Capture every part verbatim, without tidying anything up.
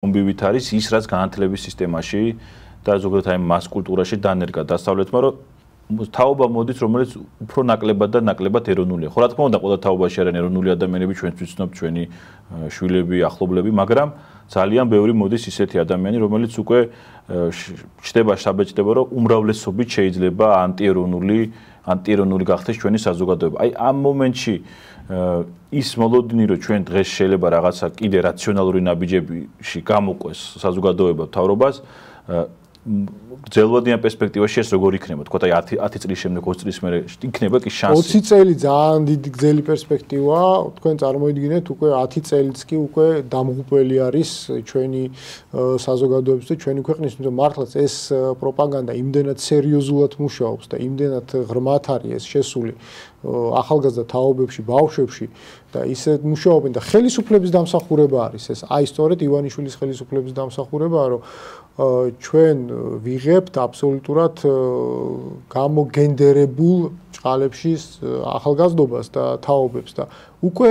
მომბივით არის ის, რაც განათლების სისტემაში და ზოგადად აი მას კულტურაში დანერგა დასავლეთმა, რომ თაობა მოდის, რომელიც უფრო ნაკლებად და ნაკლებად ეროვნულია. ხო, რა თქმა უნდა, ყველა თაობაში არიან ეროვნული ადამიანები, ჩვენც ვიცნობთ ჩვენი შვილები, ახლობლები, მაგრამ ძალიან ბევრი მოდის ისეთი ადამიანი, რომელიც უკვე ჩდება საბეჭდება, რომ უმრავლესობით შეიძლება ანტიეროვნული, ანტიეროვნული გახდეს ჩვენი საზოგადოება. აი ამ მომენტში ის მოლოდინი, რომ ჩვენ დღეს შეიძლება რაღაცა კიდე რაციონალური ნაბიჯებში გამოყვეს საზოგადოება მთავრობას, ძელვადიან პერსპექტივაში ეს როგორ იქნება? თქვა აი ათი წლის შემდეგ, ოცი წლის მერე იქნება კი შანსი. ოცი წელი ძალიან დიდი გრძელი პერსპექტივაა. თქვენ წარმოიდგინეთ, უკვე ათი წელიც კი უკვე დამღუპველი არის ჩვენი საზოგადოების და ჩვენი ქვეყნის, თუმცა მართლაც ეს პროპაგანდა იმდენად სერიოზულად მუშაობს და იმდენად ღრმად არის ეს შესული ახალგაზრდა თაობებში, ბავშვებში და ისე მუშაობენ და ხელისუფლების დამსახურება არის ეს. აი სწორედ ივანიშვილის ხელისუფლების დამსახურებაა, რომ ჩვენ ვიღებთ აბსოლუტურად გამოგენდერებულ ჭყალებში ახალგაზრდობას და თაობებს და უკვე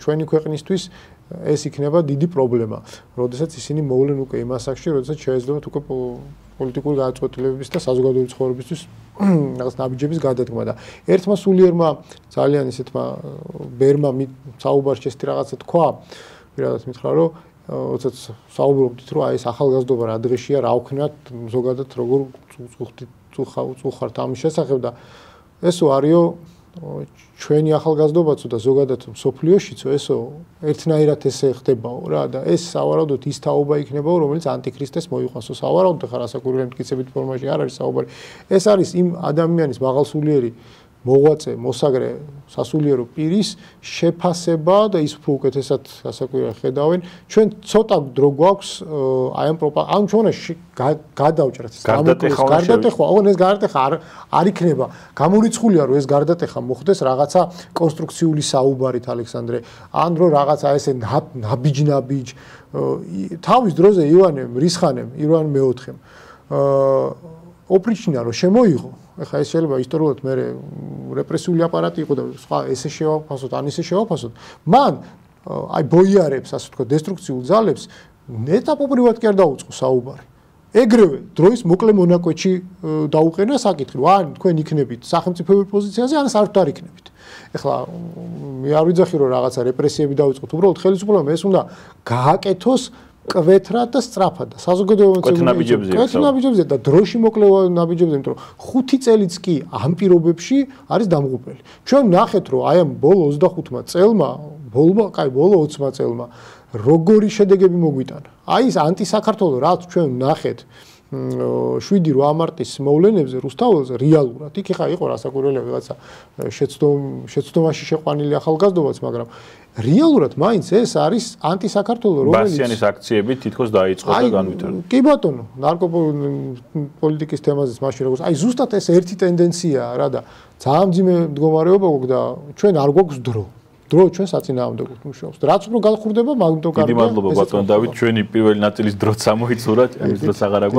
ჩვენი ქვეყნისთვის ეს იქნება დიდი პრობლემა, როდესაც ისინი მოვლენ უკვე იმ ასაკში, როდესაც შეეძლებათ უკვე პოლიტიკური გადაწყვეტილებების და საზოგადოების ცხოვრებისთვის რაღაც ნაბიჯების გადადგმა და ერთმა სულიერმა ძალიან ისეთმა ბერმა საუბარში ესეთი რაღაცა თქვა, პირადად მითხრა, რომ როდესაც საუბრობდით, რომ აი ეს ახალგაზრდობა რა დღეშია, რა ვქნათ, ზოგადად როგორ წუხართ ამის შესახებ და ესო არისო ჩვენი ახალგაზრდობაცო და ზოგადად მსოფლიოშიცო ესო ერთნაირად ესე ხდებაო რა და ეს სავარაუდოდ ის თაობა იქნებაო, რომელიც ანტიქრისტეს მოიყვანსო. სავარაუდოდ ხარ ასაკურველი მტკიცებით ფორმაში არ არის საუბარი. ეს არის იმ ადამიანის მაღალსულიერი მოღვაწე, მოსაგრე, სასულიერო პირის შეფასება და ის უფრო უკეთესად ასაკურველი ხედავენ. ჩვენ ცოტა დრო გვაქვს აი ამ პროპაგანდა, ამ ჩვენაში გადავჭრათ ეს გარდატეხვა, ოღონდ ეს გარდატეხვა არ არ იქნება. გამორიცხულია, რომ ეს გარდატეხვა მოხდეს რაღაცა კონსტრუქციული საუბარით, ალექსანდრე, ან რომ რაღაცა ესე ნაბიჯ-ნაბიჯ თავის დროზე ივანე მრისხანემ, ივანე მეოთხემ ოპრიჩინა რომ შემოიღო. ეხლა ეს შეიძლება ისტორიულად მე რეპრესიული აპარატი იყო და სხვა ესე შევაფასოთ, ან ისე შევაფასოთ. მან აი ბოიარებს, ასე ვთქვათ, დესტრუქციულ ძალებს ეტაპობრივად კი არ დაუწყო საუბარი. ეგრევე დროის მოკლე მონაკვეთში დაუყენა საკითხი, რომ ან თქვენ იქნებით სახელმწიფოებრივ პოზიციაზე, ან საერთოდ არ იქნებით. ეხლა მე არ ვიძახი რომ რაღაცა რეპრესიები დაუწყოთ, უბრალოდ ხელისუფლებამ ეს უნდა გააკეთოს კვეთრად და სწრაფად და საზოგადოებამ კვეთნაბიჯებზე და დროში მოკლე ნაბიჯებზე, იმიტომ რომ ხუთი წელიც კი ამ პირობებში არის დამღუპველი. ჩვენ ვნახეთ, რომ აი ამ ბოლო ოცდახუთმა წელმა, ბოლო, კაი, ბოლო ოცმა წელმა როგორი შედეგები მოგვიტანა. აი ეს ანტისაქართლო, რაც ჩვენ ვნახეთ შვიდი რვა მარტის მოვლენებზე რუსთაველზე რეალურად იქ ხა იყო რასაკურველია ვიღაცა შეცდომ შეცდომაში შეყვანილი ახალგაზრდობაც, მაგრამ რეალურად მაინც ეს არის ანტისაქართლო, რომელიც ბასიანის აქციები თითქოს დაიწყო და განვითარდა. კი ბატონო, ნარკოპოლიტიკის თემაზეც მაშინ როგორც აი ზუსტად ეს ერთი ტენდენციაა რა და ძალიან მძიმე მდგომარეობა გვაქვს და ჩვენ არ გვაქვს დრო. დრო ჩვენ საწინააღმდეგოდ მუშაობს. რაც უფრო გახურდება, მაგ უფრო კარგია. დიდი მადლობა ბატონ დავით, ჩვენი პირველი ნაწილის დროც ამოიცურა, ამის დროც აღარ აქვს.